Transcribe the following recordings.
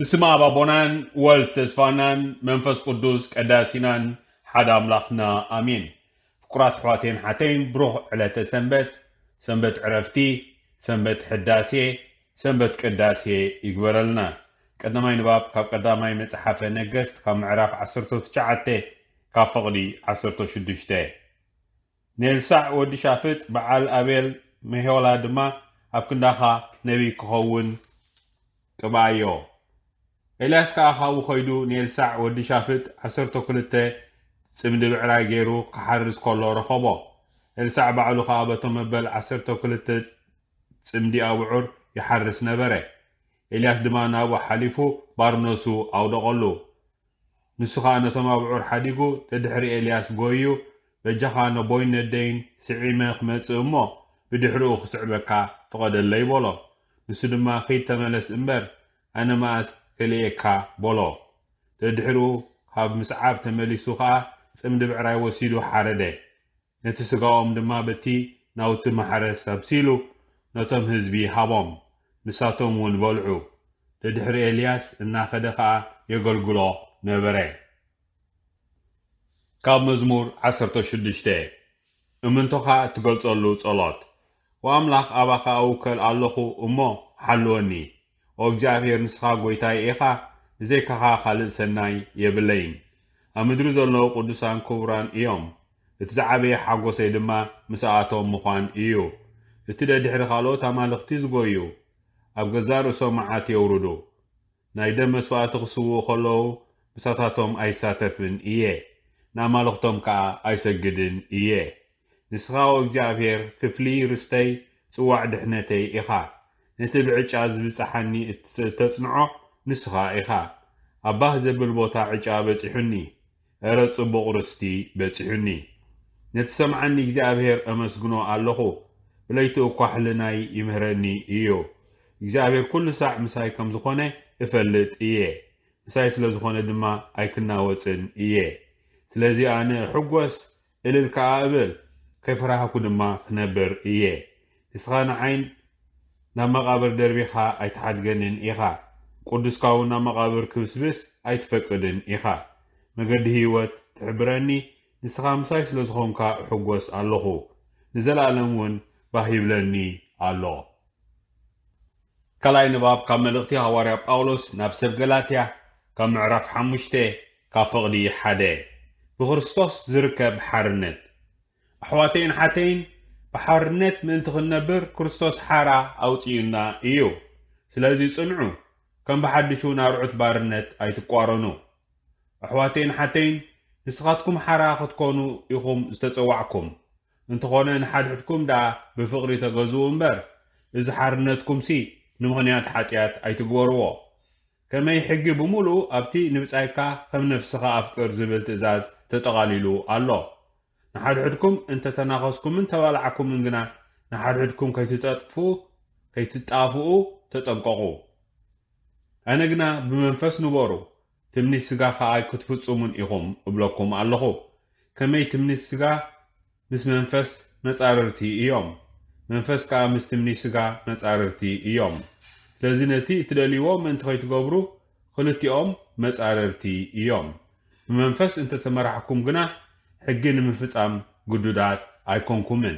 ብስም ኣብ ኣቦናን ወልድ ተስፋናን መንፈስ ቅዱስ ቀዳሲናን ሓደ ኣምላኽና ኣሜን። ፍቁራት ኣሕዋተይን ሓተይን፣ ብሩኽ ዕለተ ሰንበት፣ ሰንበት ዕረፍቲ፣ ሰንበት ሕዳሴ፣ ሰንበት ቅዳሴ ይግበረልና። ቀዳማይ ንባብ ካብ ቀዳማይ መጽሓፈ ነገስት ካብ ምዕራፍ ዓሰርተ ትሽዓተ ካብ ፍቕዲ ዓሰርተ ሽዱሽተ። ንኤልሳዕ ወዲ ሻፍጥ በዓል ኣቤል መሆላ ድማ ኣብ ክንዳኻ ነቢይ ክኸውን ቅብኣዮ። ኤልያስ ከኣ ካብኡ ኸይዱ ንኤልሳዕ ወዲ ሻፍጥ ዓሰርተ ክልተ ጽምዲ ብዕራይ ገይሩ ክሓርስ ከሎ ረኸቦ። ኤልሳዕ ባዕሉ ኸኣ በቶም መበል ዓሰርተ ክልተ ጽምዲ ኣብዑር ይሓርስ ነበረ። ኤልያስ ድማ ናብኡ ሓሊፉ ባርነሱ ኣውደቐሉ። ንሱ ኸኣ ነቶም ኣብዑር ሓዲጉ ደድሕሪ ኤልያስ ጐይዩ፣ በጃኻ ነቦይን ነደይን ስዒመ ክመጽእ እሞ፣ ብድሕሪኡ ክስዕበካ ፍቐደለይ በሎ። ንሱ ድማ፣ ኺድ ተመለስ እምበር፣ ኣነ መኣስ ክርእየካ በሎ። ደድሕሪኡ ካብ ምስዓብ ተመሊሱ ኸኣ ጽምዲ ብዕራይ ወሲዱ ሓረደ። ነቲ ስጋኦም ድማ በቲ ናውቲ ማሕረስ ኣብሲሉ ነቶም ህዝቢ ሃቦም። ንሳቶም እውን በልዑ። ደድሕሪ ኤልያስ እናኸደ ኸኣ የገልግሎ ነበረ። ካብ መዝሙር ዓሰርተ ሽዱሽተ። እምንቶኻ እትገልጸሉ ጸሎት። ወኣምላኽ ኣባኻ እውከል ኣለኹ እሞ ሓልወኒ። ኦ እግዚኣብሔር ንስኻ ጐይታይ ኢኻ፣ ብዘይካኻ ካልእ ሰናይ የብለይን። ኣብ ምድሪ ዘለዉ ቅዱሳን ክቡራን እዮም። እቲ ዝዓበየ ሓጎሰይ ድማ ምስኣቶም ምዃን እዩ። እቲ ደድሕሪ ካልኦት ኣማልኽቲ ዝጎዩ፣ ኣብ ገዛእ ርእሶም መዓት የውርዱ። ናይ ደም መስዋእቲ ክስውኡ ከለዉ ምሳታቶም ኣይሳተፍን እየ፣ ንኣማልኽቶም ከኣ ኣይሰግድን እየ። ንስኻ ኦ እግዚኣብሔር ክፍሊ ርስተይ ጽዋዕ ድሕነተይ ኢኻ። ነቲ ብዕጫ ዝብጽሓኒ እተጽንዖ ንስኻ ኢኻ። ኣብ ባህ ዘብል ቦታ ዕጫ በጺሑኒ፣ እረ ጽቡቕ ርስቲ በጺሑኒ። ነቲ ሰምዓኒ እግዚኣብሔር ኣመስግኖ ኣለኹ፣ ብለይቲ እኳ ሕልናይ ይምህረኒ እዩ። እግዚኣብሔር ኩሉ ሳዕ ምሳይ ከም ዝኾነ እፈልጥ እየ። ምሳይ ስለ ዝኾነ ድማ ኣይክናወጽን እየ። ስለዚ ኣነ እሕጎስ፣ እልል ከኣ እብል፣ ከይፈራህኩ ድማ ክነብር እየ። ንስኻ ንዓይ ናብ መቓብር ደርቢኻ ኣይትሓድገንን ኢኻ፣ ቅዱስካ እውን ናብ መቓብር ክብስብስ ኣይትፈቅድን ኢኻ። መገዲ ህይወት ትሕብረኒ፣ ንስኻ ምሳይ ስለ ዝኾንካ እሕጎስ ኣለኹ፣ ንዘለኣለም እውን ባህ ይብለኒ ኣሎ። ካልኣይ ንባብ ካብ መልእኽቲ ሃዋርያ ጳውሎስ ናብ ሰብ ገላትያ፣ ካብ ምዕራፍ ሓሙሽተ ካብ ፍቕዲ ሓደ። ብክርስቶስ ዝርከብ ሓርነት። ኣሕዋተይን ሓተይን፣ ብሓርነት ምእንቲ ክንነብር ክርስቶስ ሓራ ኣውጺኡና እዩ። ስለዚ ጽንዑ፣ ከም ብሓድሹ ናርዑት ባርነት ኣይትቋረኑ። ኣሕዋተይን ሓተይን፣ ንስኻትኩም ሓራ ክትኮኑ ኢኹም ዝተጸዋዕኩም። እንተኾነ ንሓድሕድኩም ደኣ ብፍቕሪ ተገዝኡ እምበር፣ እዚ ሓርነትኩምሲ ንምኽንያት ሓጢኣት ኣይትግበርዎ። ከመይ ሕጊ ብምሉኡ ኣብቲ ንብጻይካ ከም ነፍስኻ ኣፍቅር ዝብል ትእዛዝ ተጠቓሊሉ ኣሎ። ንሓድሕድኩም እንተ ተናኸስኩምን ተባላዕኩምን ግና፣ ንሓድሕድኩም ከይትጠጥፉ፣ ከይትጣፍኡ ተጠንቀቑ። ኣነ ግና ብመንፈስ ንበሩ፣ ትምኒት ስጋ ኸኣ ኣይክትፍጽሙን ኢኹም እብለኩም ኣለኹ። ከመይ ትምኒት ስጋ ምስ መንፈስ መጻርርቲ እዮም፣ መንፈስ ከኣ ምስ ትምኒት ስጋ መጻርርቲ እዮም። ስለዚ ነቲ እትደልይዎ ምእንቲ ኸይትገብሩ፣ ክልቲኦም መጻርርቲ እዮም። ብመንፈስ እንተ ተመራሕኩም ግና፣ ሕጊ ንምፍጻም ግዱዳት ኣይኮንኩምን።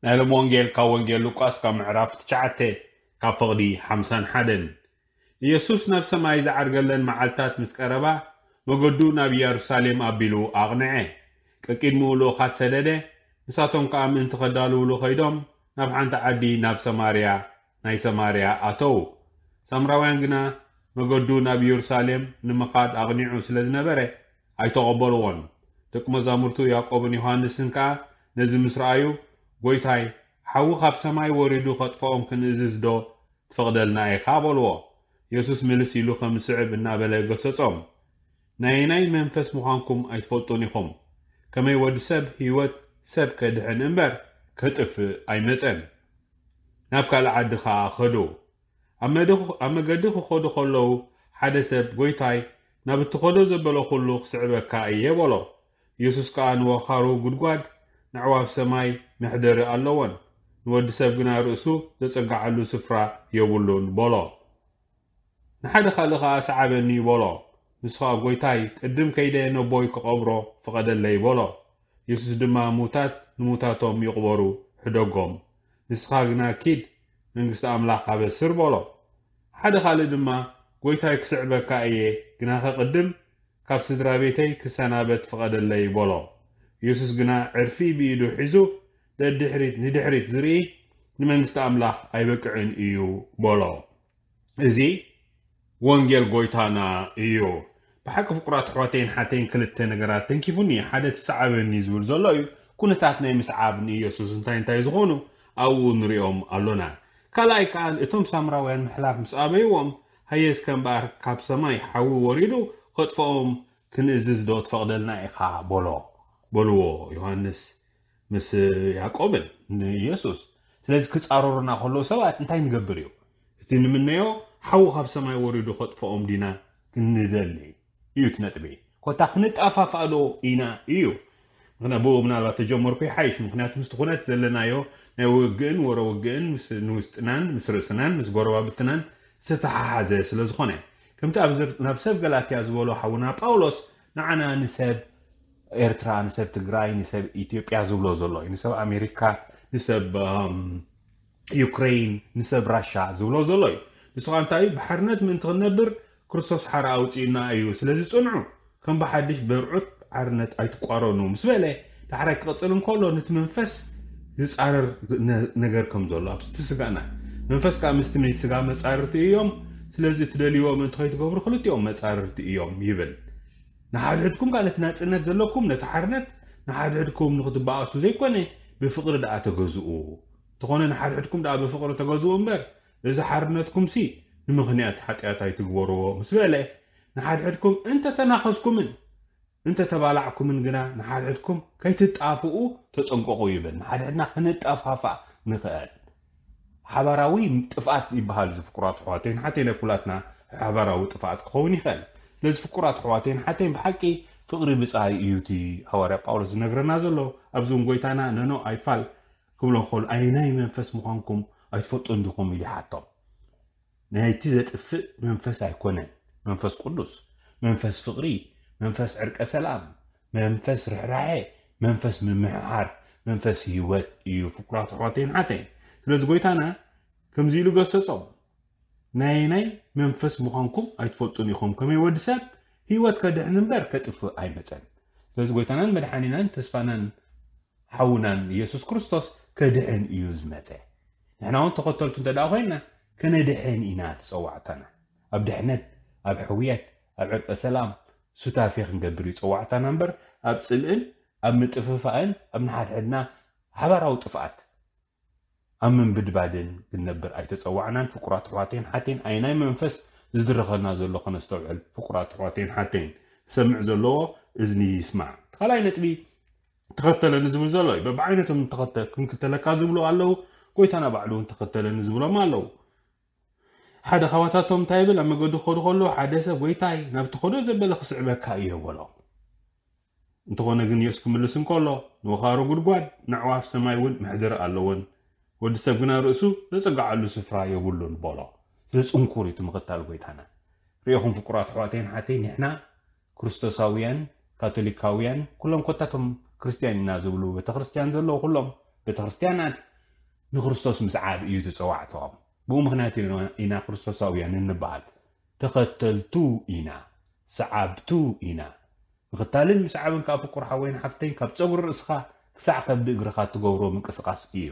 ናይ ሎም ወንጌል ካብ ወንጌል ሉቃስ ካብ ምዕራፍ ትሽዓተ ካብ ፍቕዲ ሓምሳን ሓደን። ኢየሱስ ናብ ሰማይ ዝዓርገለን መዓልታት ምስ ቀረባ፣ መገዱ ናብ ኢየሩሳሌም ኣቢሉ ኣቕንዐ። ቀቂድምኡ ልኡኻት ሰደደ፣ ንሳቶም ከኣ ምእንቲ ኸዳልውሉ ኸይዶም፣ ናብ ሓንቲ ዓዲ ናብ ሰማርያ፣ ናይ ሰማርያ ኣተዉ። ሳምራውያን ግና መገዱ ናብ ኢየሩሳሌም ንምኻድ ኣቕኒዑ ስለ ዝነበረ፣ ኣይተቐበልዎን። ደቂ መዛሙርቱ ያዕቆብን ዮሃንስን ከኣ ነዚ ምስ ረኣዩ፣ ጐይታይ፣ ሓዊ ካብ ሰማይ ወሪዱ ኸጥፍኦም ክንእዝዝ ዶ ትፈቕደልና ኢኻ? በልዎ። የሱስ ምልስ ኢሉ ከም ዝስዕብ እናበለ ገሰጾም። ናየናይ መንፈስ ምዃንኩም ኣይትፈልጡን ኢኹም። ከመይ ወዲ ሰብ ህይወት ሰብ ከድሕን እምበር ከጥፍእ ኣይመጸን። ናብ ካልእ ዓዲ ኸኣ ኸዱ። ኣብ መደ-፣ ኣብ መገዲ ክኸዱ ኸለዉ ሓደ ሰብ፣ ጐይታይ፣ ናብ እትኸዶ ዘበለ ኹሉ ክስዕበካ እየ በሎ። የሱስ ከኣ ንወኻሩ ጉድጓድ፣ ነዕዋፍ ሰማይ መሕደሪ ኣለወን፣ ንወዲ ሰብ ግና ርእሱ ዘጸግዓሉ ስፍራ የብሉን በሎ። ንሓደ ካልእ ኸኣ ሰዓበኒ በሎ። ንሱ ኸኣ ጎይታይ ቅድም ከይደ ነቦይ ክቐብሮ ፍቐደለይ በሎ። የሱስ ድማ ሙታት ንሙታቶም ይቕበሩ ሕደጎም። ንስኻ ግና ኪድ መንግስቲ ኣምላኽ ኣበስር በሎ። ሓደ ካልእ ድማ ጎይታይ ክስዕበካ እየ ግናኸ ቅድም ካብ ስድራ ቤተይ ክሰናበት ፍቐደለይ በሎ። የሱስ ግና ዕርፊ ብኢዱ ሒዙ ደድሕሪት ንድሕሪት ዝርኢ ንመንግስቲ ኣምላኽ ኣይበቅዕን እዩ በሎ። እዚ ወንጌል ጎይታና እዩ። ብሓቂ ፍቁራት ኣሕዋተይን ሓተይን ክልተ ነገራት ተንኪፉኒ። ሓደ እቲ ሰዓበኒ ዝብል ዘሎ እዩ። ኩነታት ናይ ምስዓብ ንኢየሱስ እንታይ እንታይ ዝኾኑ ኣብኡ ንሪኦም ኣሎና። ካልኣይ ከኣ እቶም ሳምራውያን ምሕላፍ ምስ ኣበይዎም ሃየ እስከ እምበኣር ካብ ሰማይ ሓዊ ወሪዱ ከጥፍኦም ክንእዝዝ ዶ ትፈቕደልና ኢኻ በሎ በልዎ ዮሃንስ ምስ ያዕቆብን ንኢየሱስ። ስለዚ ክጻረሩና ከለዉ ሰባት እንታይ ንገብር እዩ? እቲ ንምነዮ ሓዊ ካብ ሰማይ ወሪዱ ከጥፍኦም ዲና ክንደሊ እዩ እቲ ነጥቢ። ኮታ ክንጠፋፋእ ዶ ኢና እዩ። ምክንያት ብኡ ምናልባት ተጀመርኩ ይሓይሽ። ምክንያቱ ምስቲ ኩነት ዘለናዮ ናይ ውግእን ወረ ውግእን ምስ ንውስጥናን ምስ ርእስናን ምስ ጎረባብትናን ዝተሓሓዘ ስለ ዝኾነ ከምቲ ኣብ ናብ ሰብ ገላትያ ዝበሎ ሓውና ጳውሎስ ንዓና ንሰብ ኤርትራ ንሰብ ትግራይ ንሰብ ኢትዮጵያ ዝብሎ ዘሎ እዩ ንሰብ ኣሜሪካ ንሰብ ዩክሬን ንሰብ ራሻ ዝብሎ ዘሎ እዩ። ንስኻ እንታይ እዩ ብሓርነት ምእንቲ ክንነብር ክርስቶስ ሓራ ኣውፅእና እዩ። ስለዚ ፅንዑ ከም ብሓድሽ በርዑት ሓርነት ኣይትቋረኑ ምስ በለ ዳሕራይ ክቕፅል እንከሎ ነቲ መንፈስ ዝፃረር ነገር ከም ዘሎ ኣብቲ ስጋና መንፈስ ከዓ ምስቲ ናይ ስጋ መፃርርቲ እዮም። ስለዚ እትደልይዎ ምእንቲ ከይትገብሩ ክልቲኦም መፃርርቲ እዮም ይብል። ንሓድሕድኩም ከዓ ነቲ ናፅነት ዘለኩም ነቲ ሓርነት ንሓድሕድኩም ንክትበኣሱ ዘይኮነ ብፍቕሪ ደኣ ተገዝኡ። እንተኾነ ንሓድሕድኩም ደኣ ብፍቕሪ ተገዝኡ እምበር እዚ ሓርነትኩም ሲ ንምኽንያት ሓጢኣት ኣይትግበርዎ ምስ በለ ንሓድሕድኩም እንተተናኸስኩምን እንተተባላዕኩምን ግና ንሓድሕድኩም ከይትጣፍኡ ተጠንቀቑ ይብል። ንሓድሕድና ክንጠፋፋእ ንኽእል ሓባራዊ ጥፍኣት ይበሃል። እዚ ፍቁራት ኣሕዋተይን ሓተይን ናይ ኩላትና ሓባራዊ ጥፍኣት ክኸውን ይኽእል። ስለዚ ፍቁራት ኣሕዋተይን ሓተይን ብሓቂ ፍቕሪ ብጻይ እዩ እቲ ሃዋርያ ጳውሎስ ዝነግረና ዘሎ። ኣብዚ እውን ጎይታና ነኖ ኣይፋል ክብሎ ከሎ ኣይናይ መንፈስ ምዃንኩም ኣይትፈልጡን ዲኹም ኢሉ ይሓቶም። ናይቲ ዘጥፍእ መንፈስ ኣይኮነን፣ መንፈስ ቅዱስ፣ መንፈስ ፍቕሪ፣ መንፈስ ዕርቀ ሰላም፣ መንፈስ ርሕራሐ፣ መንፈስ ምምሕሓር፣ መንፈስ ህይወት እዩ። ፍቁራት ኣሕዋተይን ሓተይን፣ ስለዚ ጎይታና ከምዚ ኢሉ ገሰጾም፣ ናይ ናይ መንፈስ ምዃንኩም ኣይትፈልጡን ኢኹም። ከመይ ወዲ ሰብ ህይወት ከድሕን እምበር ከጥፍእ ኣይመጸን። ስለዚ ጎይታናን መድሓኒናን ተስፋናን ሓውናን ኢየሱስ ክርስቶስ ከድሕን እዩ ዝመጸ። ንሕና እውን ተኸተልቱ እንተ ደኣ ኮይንና ከነድሕን ኢና ተጸዋዕታና። ኣብ ድሕነት፣ ኣብ ሕውየት፣ ኣብ ዕርቀ ሰላም ሱታፌ ክንገብር እዩ ጸዋዕታና እምበር ኣብ ጽልእን ኣብ ምጥፍፋእን ኣብ ንሓድሕድና ሓባራዊ ጥፍኣት ኣብ ምንብድባድን ክንነብር ኣይተጸዋዕናን። ፍቁራት ኣሕዋተይን ሓተይን ኣይናይ መንፈስ ዝድረኸና ዘሎ ከነስተውዕል። ፍቁራት ኣሕዋተይን ሓተይን ዝሰምዕ ዘለዎ እዝኒ ይስማዕ። ካልኣይ ነጥቢ ተኸተለኒ ዝብል ዘሎ እዩ። በብዓይነቶም ተኸተ ክንክተለካ ዝብሉ ኣለዉ። ጎይታና ባዕሉ እውን ተኸተለኒ ዝብሎም ኣለዉ። ሓደ ካባታቶም እንታይ ይብል? ኣብ መገዱ ክኸዱ ከለዉ ሓደ ሰብ ጎይታይ ናብ ትኸዶ ዘበለ ክስዕበካ እየ በሎ። እንተኾነ ግን የሱስ ክምልስ እንከሎ ንወኻሮ ጉድጓድ ንኣዕዋፍ ሰማይ እውን መሕደሪ ኣለወን። ወዲ ሰብ ግና ርእሱ ዘጸግዓሉ ስፍራ የብሉን በሎ። ስለ ጽንኩር እዩ እቲ ምኽታል ጎይታና። ርኢኹም ፍቁራት ኣሕዋተይን ሓተይ ንሕና ክርስቶሳውያን ካቶሊካውያን ኩሎም ኮታቶም ክርስትያን ኢና ዝብሉ ቤተክርስትያን ዘለዉ ኩሎም ቤተክርስትያናት ንክርስቶስ ምስዓብ እዩ ዝፀዋዕተኦም። ብኡ ምክንያት ኢና ክርስቶሳውያን እንበሃል። ተኸተልቱ ኢና፣ ሰዓብቱ ኢና። ምኽታልን ምስዓብን ከዓ ፍቁር ሓወይን ሓፍተይን ካብ ፀጉሪ ርእስኻ ክሳዕ ከብዲ እግርኻ እትገብሮ ምንቅስቃስ እዩ።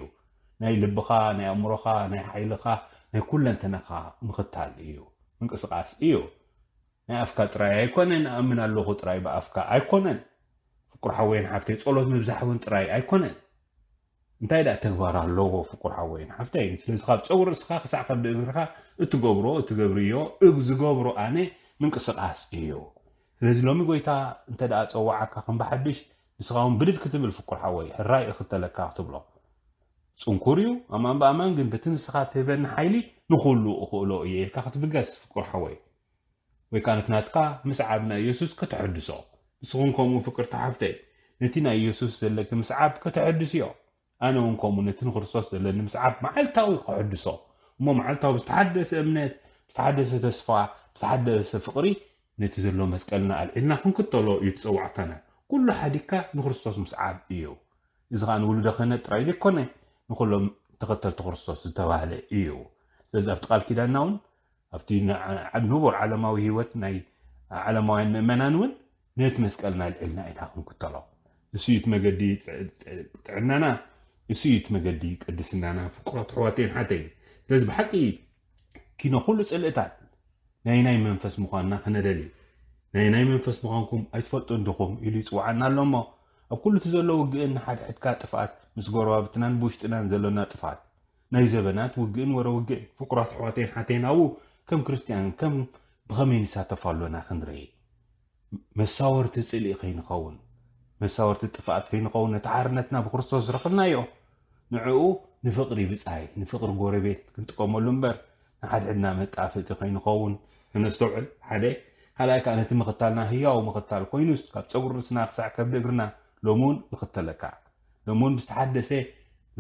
ናይ ልብኻ፣ ናይ ኣእምሮኻ፣ ናይ ሓይልኻ፣ ናይ ኩለንተናኻ ምኽታል እዩ፣ ምንቅስቃስ እዩ። ናይ ኣፍካ ጥራይ ኣይኮነን፣ ኣምን ኣለኹ ጥራይ ብኣፍካ ኣይኮነን። ፍቁር ሓወይን ሓፍተይ ጸሎት ምብዛሕ እውን ጥራይ ኣይኮነን። እንታይ ደኣ ተግባር ኣለዎ ፍቁር ሓወይን ሓፍተይ? ስለዚ ካብ ጸጉሪ ርእስኻ ክሳዕ ከብዲ እግርኻ እትገብሮ፣ እትገብርዮ፣ እግ ዝገብሮ ኣነ ምንቅስቃስ እዩ። ስለዚ ሎሚ ጎይታ እንተ ደኣ ጸዋዓካ ከም ብሓድሽ ንስኻ እውን ብድድ ክትብል ፍቁር ሓወይ፣ ሕራይ እኽተለካ ክትብሎ። ጽንኩር እዩ፣ ኣማን ብኣማን ግን በቲ ንስኻ ትህበኒ ሓይሊ ንኹሉ እኽእሎ እየ ኢልካ ክትብገስ ፍቁር ሓወይ። ወይ ከኣ ነቲ ናትካ ምስዓብ ናይ የሱስ ከተሐድሶ። ንስኹም ከምኡ ፍቅርቲ ሓፍተይ፣ ነቲ ናይ የሱስ ዘለኪ ምስዓብ ከተሐድስዮ። ኣነ እውን ከምኡ ነቲ ንክርስቶስ ዘለኒ ምስዓብ መዓልታዊ ከሐድሶ። እሞ መዓልታዊ ብዝተሓደሰ እምነት፣ ብዝተሓደሰ ተስፋ፣ ብዝተሓደሰ ፍቕሪ ነቲ ዘሎ መስቀልና ኣልዒልና ክንክተሎ እዩ ትጸዋዕታና። ኩሉ ሓዲግካ ንክርስቶስ ምስዓብ እዩ። እዚ ኸኣ ንውሉደ ክህነት ጥራይ ዘይኮነ፣ ንኹሎም ተኸተልቲ ክርስቶስ ዝተባህለ እዩ። ስለዚ ኣብቲ ቃል ኪዳንና እውን ኣብቲ ንቡር ዓለማዊ ህይወት ናይ ዓለማውያን ምእመናን እውን ነቲ መስቀልና ኣልዒልና ኢና ክንክተሎ። እሱ እዩ እቲ መገዲ ጥዕናና፣ እሱ እዩ እቲ መገዲ ቅድስናና። ፍቁራት ኣሕዋተይን ሓተይን፣ ስለዚ ብሓቂ ኪኖ ኩሉ ጽልእታት ናይ ናይ መንፈስ ምዃንና ክነደሊ። ናይ ናይ መንፈስ ምዃንኩም ኣይትፈልጡን ዲኹም ኢሉ ይጽውዓና ኣሎ እሞ፣ ኣብ ኩሉ እቲ ዘሎ ውግእን ንሓድሕድካ ጥፍኣት ምስ ጎረባብትናን ብውሽጥናን ዘሎና ጥፍኣት ናይ ዘበናት ውግእን ወረ ውግእን። ፍቁራት ኣሕዋተይን ሓተይን ኣብኡ ከም ክርስትያን ከም ብኸመይ ንሳተፍ ኣሎና ክንርኢ። መሳወርቲ ጽልኢ ከይንኸውን፣ መሳወርቲ ጥፍኣት ከይንኸውን፣ ነቲ ሓርነትና ብክርስቶስ ዝረኽብናዮ ንዕኡ ንፍቕሪ ብጻይ፣ ንፍቕሪ ጎረቤት ክንጥቀመሉ እምበር ንሓድሕድና መጣፍእቲ ከይንኸውን ክነስተውዕል ሓደ። ካልኣይ ከኣ ነቲ ምኽታልና ህያው ምኽታል ኮይኑስ ካብ ጸጉሪ ርእስና ክሳዕ ከብዲ እግርና ሎሚ እውን ይኽተለካ። ሎሚ እውን ብዝተሓደሰ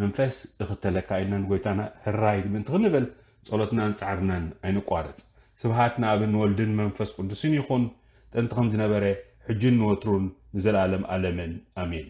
መንፈስ እኽተለካ ኢልና ንጎይታና ህራይ ምእንቲ ክንብል ጸሎትናን ጻዕርናን ኣይንቋረጽ። ስብሃት ንኣብን ወልድን መንፈስ ቅዱስን ይኹን፣ ጥንቲ ከም ዝነበረ፣ ሕጅን ንወትሩን ንዘለኣለም ኣለምን ኣሜን።